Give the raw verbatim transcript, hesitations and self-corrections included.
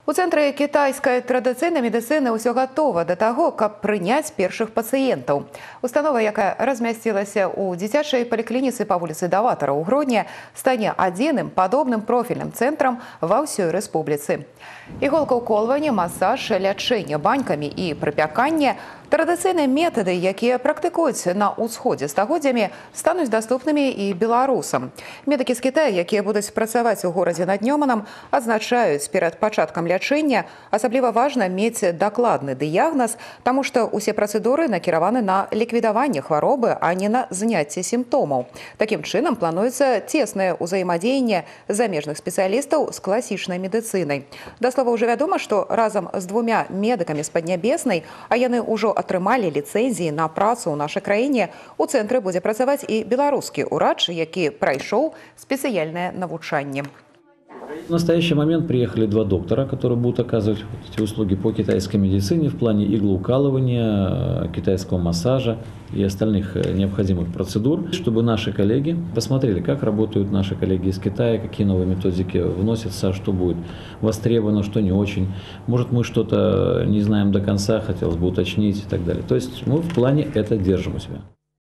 У цэнтры кітайскай традыцыйнай медыцыны ўсё гатова да таго, каб прыняць першых пацыентаў. Установа, якая размясцілася ў дзіцячай паліклініцы па вуліцы Даватара ў Гродні, стане адзіным падобным профільным цэнтрам ва ўсёй рэспубліцы. Іголкаўколванне, масаж, лячэнне банькамі і прыпяканне – традыцыйныя метады, якія практыкуюць на ўсходзе стагоддзямі, стануць даступнымі і беларусам. Медыкі з Кітая, якія будуць працаваць у горадзе над Нёманам, адзначаюць, перад пачаткам лячэння асабліва важна мець дакладны дыягназ, таму што ўсе працэдуры накіраваны на ліквідаванне хваробы, а не на зняцце сімптомаў. Такім чынам плануецца цеснае ўзаемадзеянне замежных спецыялістаў з класічнай медыцынай. Да слова, ўжо вядома, што разам з двумя медыкамі з Паднябеснай, а яны ўжо атрымалі ліцэнзіі на працу ў нашай краіне, у цэнтры будзе працаваць і беларускі ўрач, які прайшоў спецыяльнае навучанне. В настоящий момент приехали два доктора, которые будут оказывать эти услуги по китайской медицине в плане иглоукалывания, китайского массажа и остальных необходимых процедур, чтобы наши коллеги посмотрели, как работают наши коллеги из Китая, какие новые методики вносятся, что будет востребовано, что не очень. Может, мы что-то не знаем до конца, хотелось бы уточнить и так далее. То есть мы в плане это держим у себя.